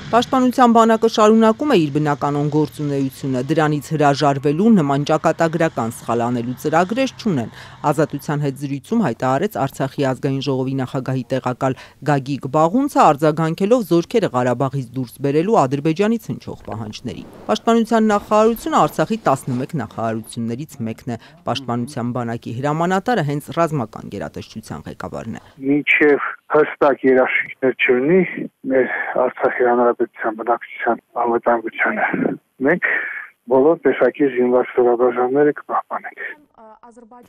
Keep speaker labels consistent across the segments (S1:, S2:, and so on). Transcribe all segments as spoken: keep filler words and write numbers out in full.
S1: Պաշտպանության բանակը շարունակում է իր բնականոն գործունեությունը, դրանից հրաժարվելու նման ճակատագրական սխալ անելու ծրագրեր չունեն։ Ազատության հետ զրույցում հայտարարեց Արցախի ազգային ժողովի նախագահի տեղակալ Գագիկ Բաղունցը, արձագանքելով զորքերը Ղարաբաղից դուրս բերելու Ադրբեջանից հնչող պահանջների։ Պաշտպանության նախարարությունը Արցախի տասնմեկ նախարարություններից մեկն է։ Պաշտպանության բանակի հրամանատարը հենց ռազմական գերատեսչության ղեկավարն է։
S2: Մինչև հստակ երաշխիքներ չունի մեր Արցախի հանրապետության բնակչության անվտանգությունը, մենք բոլոր տեսակի զինված ստորաբաժանումները կպահպանենք։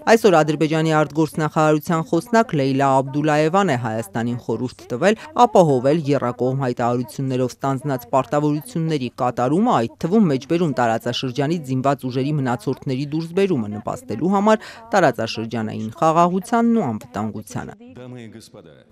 S1: Այսօր Ադրբեջանի արտգործնախարարության խոսնակ Լեյլա Աբդուլաևան է Հայաստանին խորհուրդ տվել ապահովել եռակողմ հայտարարություններով ստանձնած պարտավորությունների կատարումը, այդ թվում մեջբերում տարածաշրջանից զինված ուժերի մնացորդների դուրսբերումը նպաստելու համար տարածաշրջանային խաղաղությանն ու անվտանգությանը։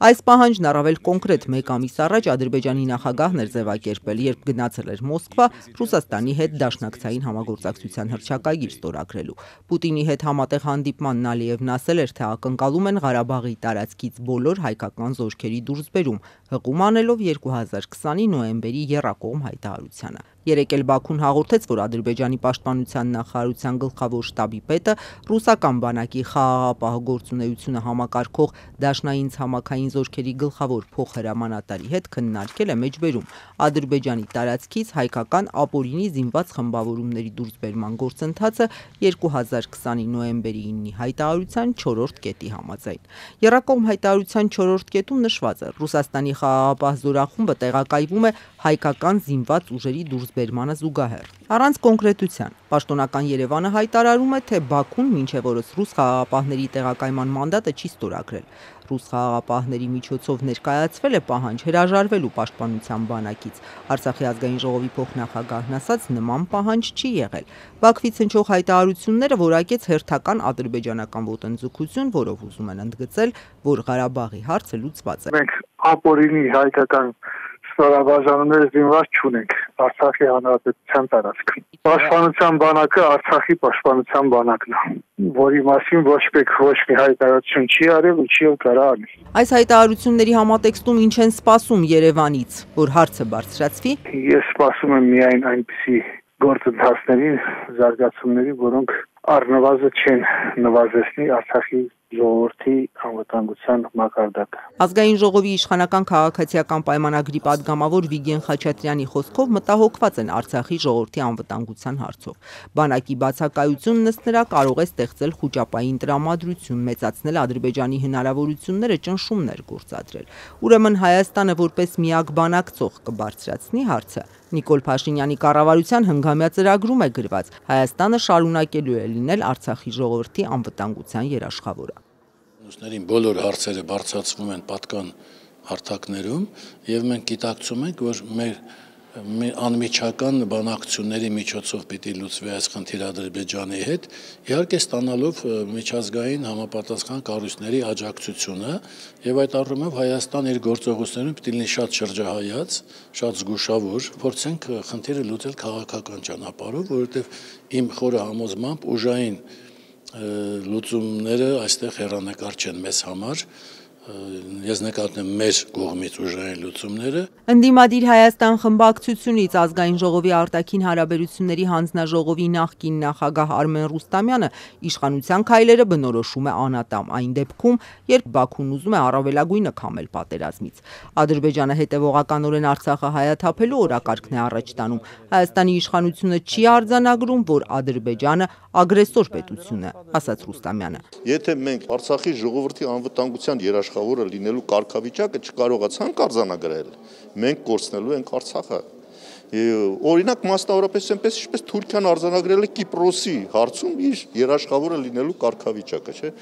S1: Այս պահանջն առավել կոնկրետ մեկ ամիս առաջ Ադրբեջանի նախագահն էր ձևակերպել, երբ գնացել էր Մոսկվա Ռուսաստանի հետ դաշնակցային համագործակցության հռչակագիր ստորագրելու։ Պուտինի հետ համատեղ հանդիպմանն Ալիևն ասել էր, թե ակնկալում են Ղարաբաղի տարածքից բոլոր հայկական զորքերի դուրսբերում, հղում անելով երկու հազար քսանի նոյեմբերի եռակողմ հայտարարությանը։ Երեկ էլ Բաքուն հաղորդեց, որ Ադրբեջանի պաշտպանության նախարարության գլխավոր շտաբի պետը ռուսական բանակի խաղաղապահ գործունեությունը համակարգող դաշնային ցամաքային զորքերի գլխավոր փոխհրամանատարի հետ քննարկել է մեջբերում Ադրբեջանի տարածքից հայկական ապօրինի զինված խմբավորումների դուրսբերման գործընթացը երկու հազար քսանի նոյեմբերի իննի հայտարարության չորրորդ կետի համաձայն։ Եռակողմ հայտարարության չորրորդ կետում նշված է. Ռուսաստանի խաղաղապահ զորախումբը տեղակայվում է հայկական զինված ուժերի դուրսբերմանը զուգահեռ։ Առանց կոնկրետության պաշտոնական Երևանը հայտարարում է, թե Բաքուն մինչև օրս ռուս խաղաղապահների տեղակայման մանդատը չի ստորագրել։ Ռուս խաղաղապահների միջոցով ներկայացվել է պահանջ հրաժարվելու պաշտպանության բանակից։ Արցախի ազգային ժողովի փոխնախագահն ասաց, նման պահանջ չի եղել։ Բաքվից հնչող հայտարարությունները որակեց հերթական ադրբեջանական ոտնձգություն, որով ուզում են ընդգծել, որ Ղարաբաղի հարցը լուծված է։
S2: Մենք ապօրինի հայկական ստորաբաժանումները զինված չունենք Արցախի հանրապետության տարածքում։ Պաշտպանության բանակը Արցախի պաշտպանության բանակն է, որի մասին ոչ մեկ ոչ մի հայտարարություն չի արել ու չի կարա անի։
S1: Այս հայտարարությունների համատեքստում ինչ են սպասում Երևանից, որ հարցը բարձրացվի։
S2: Ես սպասում եմ միայն այնպիսի գործընթացների, զարգացումների, որոնք առնվազն չեն նվազեցնի Արցախի ժողովրդի անվտանգության մակարդակը։
S1: Ազգային ժողովի իշխանական քաղաքացիական պայմանագրի падգամավոր Վիգեն Խաչատրյանի խոսքով մտահոգված են Արցախի ժողովրդի անվտանգության հարցով։ Բանակի բացակայությունն ըստ նրա կարող է ստեղծել խուճապային տրամադրություն, մեծացնել Ադրբեջանի հնարավորությունները ճնշումներ գործադրել։ Ուրեմն Հայաստանը որպես միակ բանակցող կբարձրացնի հարցը։ Նիկոլ Փաշինյանի կառավարության հնգամյա ծրագրում է գրված. Հայաստանը շարունակելու է լինել Արցախի ժողովրդի անվտանգության երաշխավորը։
S3: Մյուսներին բոլոր հարցերը բարձրացվում են պատկան հարթակներում եւ մենք գիտակցում ենք, որ մեր անմիջական բանակցությունների միջոցով պիտի լուծվի այս խնդիրը Ադրբեջանի հետ, իհարկե ստանալով միջազգային համապատասխան կառույցների աջակցությունը եւ այդ առումով Հայաստան իր գործողություններում պիտի լինի շատ շրջահայաց, շատ զգուշավոր, փորձենք խնդիրը լուծել քաղաքական ճանապարհով, որովհետեւ իմ խորը համոզմամբ ուժային լուծումները այստեղ հեռանկար չեն մեզ համար։ Ես նկատեմ մեր կողմից ուժային լուծումները։
S1: Ընդդիմադիր Հայաստան խմբակցությունից ազգային ժողովի արտաքին հարաբերությունների հանձնաժողովի նախկին նախագահ Արմեն Ռուստամյանը իշխանության քայլերը բնորոշում է անատամ այն դեպքում, երբ Բաքուն ուզում է առավելագույնը քամել պատերազմից։ Ադրբեջանը հետևողականորեն Արցախը հայաթափելու օրակարգն է առաջ տանում։ Հայաստանի իշխանությունը չի արձանագրում, որ Ադրբեջանը ագրեսոր պետություն է, ասաց Ռուստամյանը։
S4: Եթե մենք Արցախի ժողովրդի անվտանգության երաշխավորը լինելու կարգավիճակը չկարողացանք արձանագրել, մենք կորցնելու ենք Արցախը։ Օրինակ մասնավորապես այնպես ինչպես Թուրքիան արձանագրել է Կիպրոսի հարցում իր երաշխավորը լինելու կարգավիճակը, չէ՞։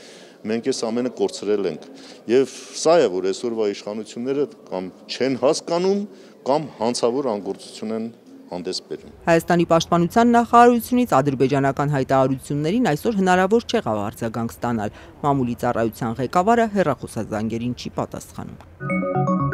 S4: Մենք այս ամենը կորցրել ենք։ Եվ սա է, որ այսօրվա իշխանությունները կամ չեն հասկանում, կամ հանցավոր անգործություն են հանդես բերում։
S1: Հայաստանի պաշտպանության նախարարությունից ադրբեջանական հայտարարություններին այսօր հնարավոր չեղավ արձագանք ստանալ։ Մամուլի ծառայության ղեկավարը հեռախոսազանգերին չի պատասխանում։